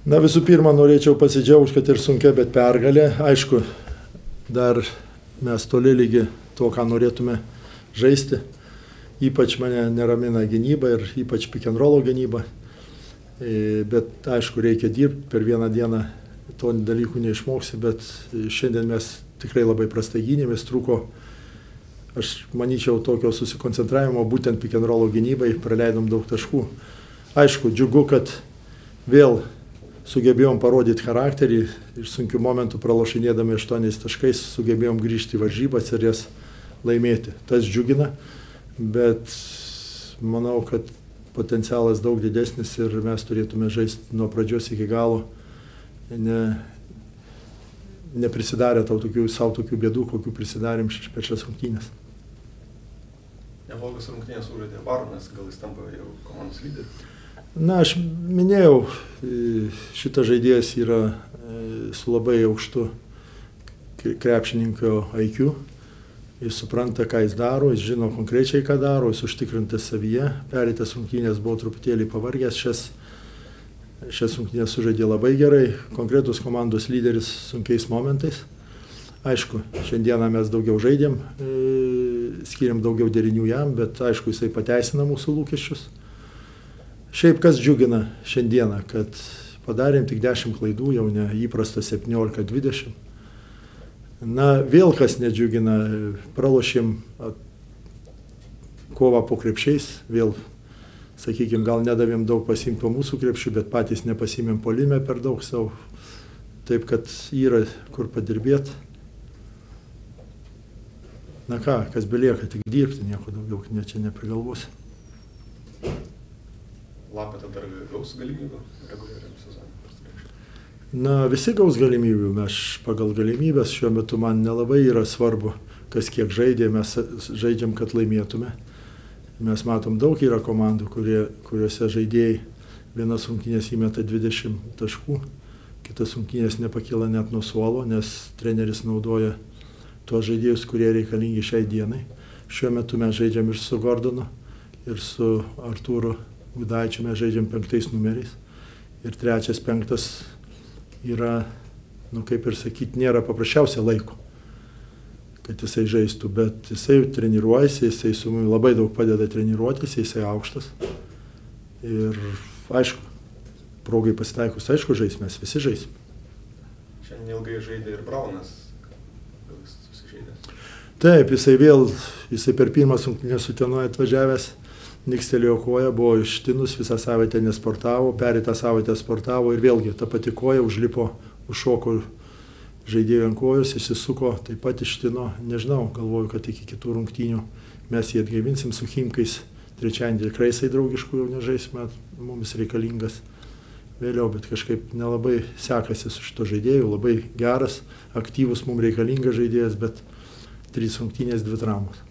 Na visų pirma, norėčiau pasidžiaugti, kad ir sunkia, bet pergalė. Aišku, dar mes toli lygi to, ką norėtume žaisti. Ypač mane neramina gynyba ir ypač pick and rollo gynyba. Bet aišku, reikia dirbti, per vieną dieną to dalykų neišmoksi, bet šiandien mes tikrai labai prastai gynėmės, trūko, aš manyčiau, tokio susikoncentravimo būtent pick and rollo gynybai, praleidom daug taškų. Aišku, džiugu, kad vėl sugebėjom parodyti charakterį ir sunkių momentų pralošinėdami 8 taškais sugebėjom grįžti į varžybas ir jas laimėti. Tas džiugina, bet manau, kad potencialas daug didesnis ir mes turėtume žaisti nuo pradžios iki galo, neprisidarę savo tokių bėdų, kokių prisidarėm per šias rungtynes. Neblogas rungtynės sužaidė Baronas, gal jis tampa jau komandos lyderiu? Na, aš minėjau, šitas žaidėjas yra su labai aukštu krepšininko IQ. Jis supranta, ką jis daro, jis žino konkrečiai, ką daro, jis užtikrintas savyje. Pereitas rungtynės buvo truputėlį pavargęs, šias rungtynės sužaidė labai gerai, konkretus komandos lyderis sunkiais momentais. Aišku, šiandieną mes daugiau žaidėm, skiriam daugiau derinių jam, bet aišku, jisai pateisina mūsų lūkesčius. Šiaip kas džiugina šiandieną, kad padarėm tik 10 klaidų, jau ne įprasta 17-20. Na, vėl kas nedžiugina, pralošėm kovą po krepšiais, vėl, sakykime, gal nedavėm daug pasiimti po mūsų krepšių, bet patys nepasimėm puolime per daug savo. Taip, kad yra kur padirbėti. Na ką, kas belieka, tik dirbti, nieko daugiau čia neprigalvosi. Lapė tada gaus galimybių reguliariam sezonui? Na, visi gaus galimybių, mes pagal galimybės šiuo metu man nelabai yra svarbu, kas kiek žaidė, mes žaidžiam, kad laimėtume. Mes matom, daug yra komandų, kuriuose žaidėjai vienas rungtynės įmeta 20 taškų, kitas rungtynės nepakyla net nuo suolo, nes treneris naudoja tuos žaidėjus, kurie reikalingi šiai dienai. Šiuo metu mes žaidžiam ir su Gordonu, ir su Artūru Gudaičiu, mes žaidžiam 5 numeriais. Ir 3, 5 yra, kaip ir sakyti, nėra paprasčiausia laiko, kad jisai žaistų, bet jisai treniruojasi, jisai su mumi labai daug padeda treniruotis, jisai aukštas. Ir aišku, progai pasitaikus, aišku, mes visi žaisim. Šiandien ilgai žaidė ir Braunas, gal jis susižaidė? Taip, jisai per pirmas rungtynes su Utenoje atvažiavęs, nikstelėjo koją, buvo ištinus, visą savaitę nesportavo, pereitą savaitę sportavo ir vėlgi ta pati koja užšoko žaidėjų ant kojos, išsisuko, taip pat ištino, nežinau, galvoju, kad iki kitų rungtynių mes jį atgaivinsim su Chimkais, trečiadienį tikrai jisai draugiškų jau nežaisime, mums reikalingas vėliau, bet kažkaip nelabai sekasi su šito žaidėju, labai geras, aktyvus, mums reikalingas žaidėjas, bet 3 rungtynės, 2 traumos.